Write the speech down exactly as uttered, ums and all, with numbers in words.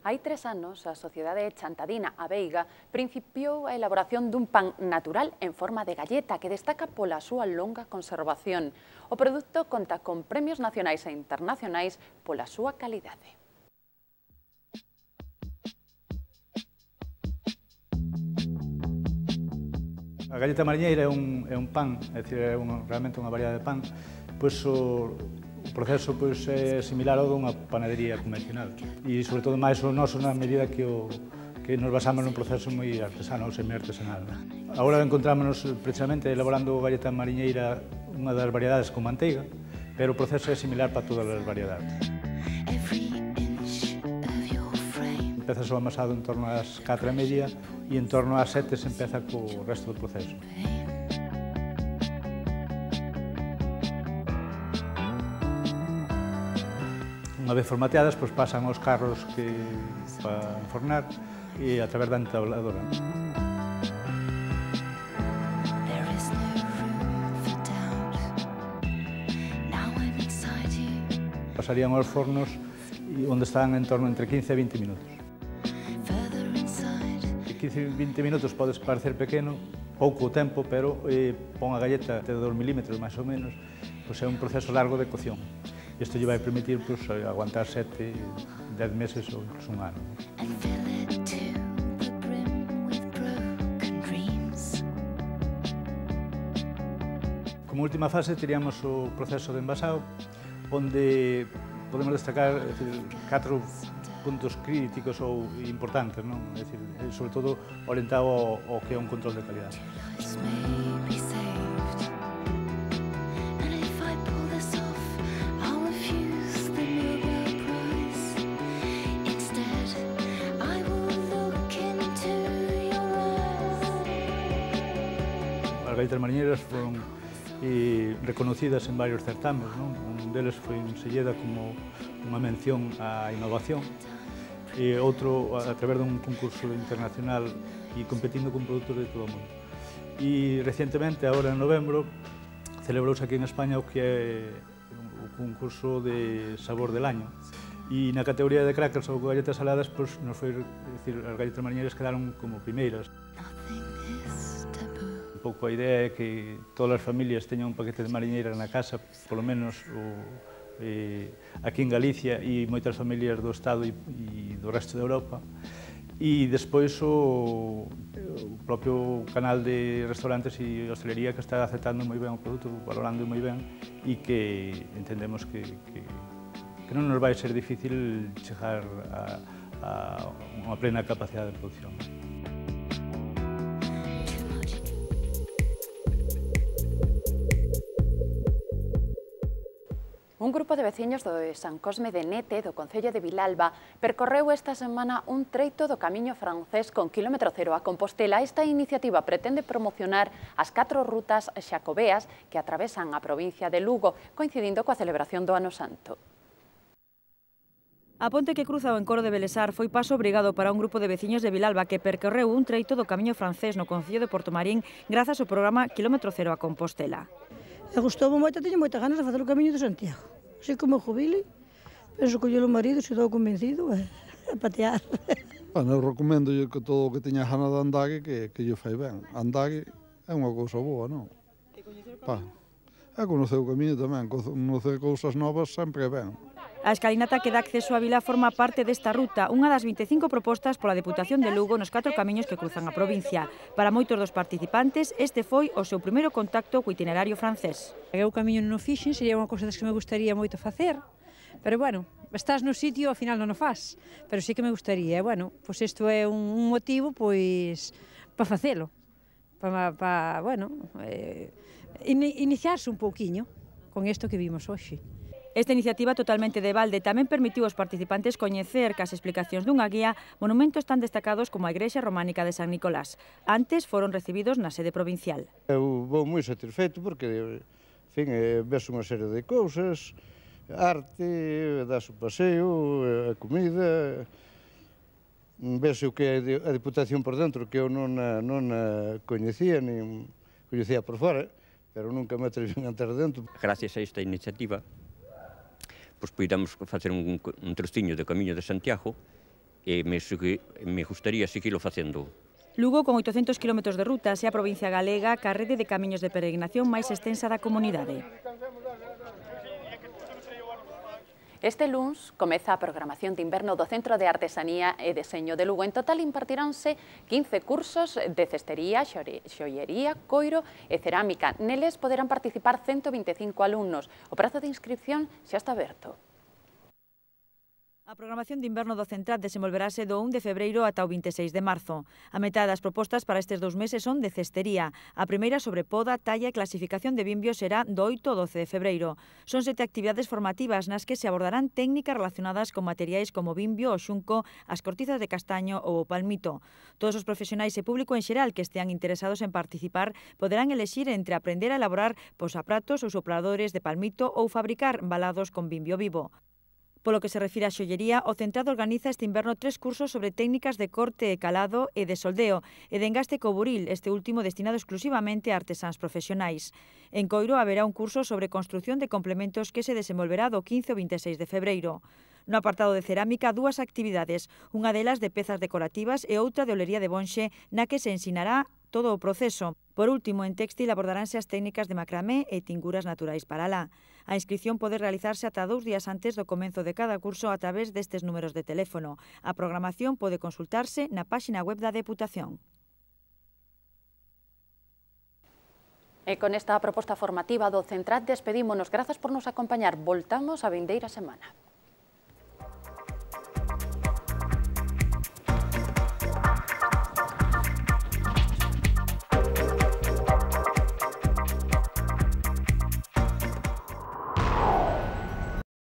Hai tres anos, a Sociedade Chantadina A Veiga principiou a elaboración dun pan natural en forma de galleta que destaca pola súa longa conservación. O produto conta con premios nacionais e internacionais pola súa calidade. A galleta mariñeira é un, é un pan, é, dicir, é un, realmente unha variedade de pan, pois o, o proceso pois, é similar ao dunha panadería convencional e, sobre todo, máis o noso na medida que, o, que nos basamos nun proceso moi artesano ou semi-artesanal. Agora encontrámonos precisamente elaborando galleta mariñeira, unha das variedades con manteiga, pero o proceso é similar para todas as variedades. Empeza o amasado en torno ás catro e media e en torno ás sete se empeza co resto do proceso. Unha vez formateadas, pois pasan aos carros que para enfornar e a través da entabladora. Pasarían aos fornos onde están en torno entre quince e vinte minutos. quince e vinte minutos podes parecer pequeno, pouco tempo, pero eh, pon a galleta de dos milímetros máis ou menos, pois é un proceso largo de cocción. Isto lle vai permitir pois, aguantar sete, dez meses ou incluso un ano. Como última fase teríamos o proceso de envasado, onde podemos destacar é dicir, catro puntos críticos ou importantes, non? É dicir, sobre todo orientado ao, ao que é un control de calidad. As galletas mariñeiras foron eh, reconocidas en varios certames, non? Un deles foi en Silleda como unha mención á innovación, e outro a través dun concurso internacional e competindo con produtos de todo o mundo. E recentemente, agora en novembro, celebrouse aquí en España o que é o concurso de sabor del año. E na categoría de crackers ou galletas saladas, pois, nos foi, decir, as galletas mariñeiras quedaron como primeiras. Un pouco a idea é que todas as familias teñan un paquete de mariñeira na casa, polo menos o, eh, aquí en Galicia e moitas familias do Estado e, e do resto de Europa. E despois o, o propio canal de restaurantes e hostelería que está aceptando moi ben o produto, valorando moi ben e que entendemos que, que, que non nos vai ser difícil chegar a, a unha plena capacidade de producción. Un grupo de veciños do San Cosme de Nete, do concello de Vilalba, percorreu esta semana un treito do camiño francés con quilómetro cero a Compostela. Esta iniciativa pretende promocionar as catro rutas xacobeas que atravesan a provincia de Lugo, coincidindo coa celebración do Ano Santo. A ponte que cruza o encoro de Belesar foi paso obrigado para un grupo de veciños de Vilalba que percorreu un treito do camiño francés no concello de Portomarín grazas ao programa Quilómetro Cero a Compostela. E gustoume moito, teño moitas ganas de facer o camiño de Santiago. Así como jubile, penso que o marido se dou convencido a, a patear. Bueno, eu recomendo que todo o que teña ganas de andar que, que lle fai ben. Andar é unha cousa boa, non? E coñecer o camiño? Pa, é conocer o camiño tamén, conocer cousas novas sempre é ben. A escalinata que dá acceso a vila forma parte desta ruta, unha das vinte e cinco propostas pola Deputación de Lugo nos catro camiños que cruzan a provincia. Para moitos dos participantes, este foi o seu primeiro contacto co itinerario francés. Eu camiño non o fixen, sería unha cousa das que me gustaría moito facer, pero bueno, estás no sitio, ao final non o faz, pero sí que me gustaría, e bueno, pois isto é un motivo, pois, para facelo, para, para bueno, eh, iniciarse un pouquiño con isto que vimos hoxe. Esta iniciativa totalmente de balde tamén permitiu aos participantes coñecer cas explicacións dunha guía monumentos tan destacados como a Igrexa Románica de San Nicolás. Antes foron recibidos na sede provincial. Eu vou moi satisfeito porque, en fin, ves unha serie de cousas, arte, das o paseo, a comida, ves o que é a Diputación por dentro, que eu non a, non a coñecía, nin coñecía por fora, pero nunca me atrevín a entrar dentro. Gracias a esta iniciativa, pois poidamos facer un, un trociño de Camiño de Santiago e me, me gustaría seguirlo facendo. Lugo, con oitocentos kilómetros de ruta, é a provincia galega ca rede de camiños de peregrinación máis extensa da comunidade. Este luns comeza a programación de inverno do Centro de Artesanía e Deseño de Lugo. En total impartiránse quince cursos de cestería, xoiería, coiro e cerámica. Neles poderán participar ciento vinte e cinco alumnos. O prazo de inscripción xa está aberto. A programación de inverno do Centrat desenvolverase do un de febreiro ata o vinte e seis de marzo. A metade das propostas para estes dous meses son de cestería. A primeira sobre poda, talla e clasificación de vimbios será do oito ao doce de febreiro. Son sete actividades formativas nas que se abordarán técnicas relacionadas con materiais como o vimbio, o xunco, as cortizas de castaño ou o palmito. Todos os profesionais e público en xeral que estean interesados en participar poderán elexir entre aprender a elaborar posapratos ou sopladores de palmito ou fabricar balados con vimbio vivo. Polo que se refire á xollería, o Centrado organiza este inverno tres cursos sobre técnicas de corte e calado e de soldeo e de engaste co buril, este último destinado exclusivamente a artesáns profesionais. En Coiro haberá un curso sobre construción de complementos que se desenvolverá do quince ao vinte e seis de febreiro. No apartado de cerámica, dúas actividades, unha delas de pezas decorativas e outra de olería de Bonxe, na que se ensinará todo o proceso. Por último, en téxtil abordaránse as técnicas de macramé e tinguras naturais para lá. A inscripción pode realizarse ata dous días antes do comenzo de cada curso a través destes números de teléfono. A programación pode consultarse na páxina web da Deputación. E con esta proposta formativa do Centrat despedímonos. Grazas por nos acompañar. Voltamos a vindeira semana.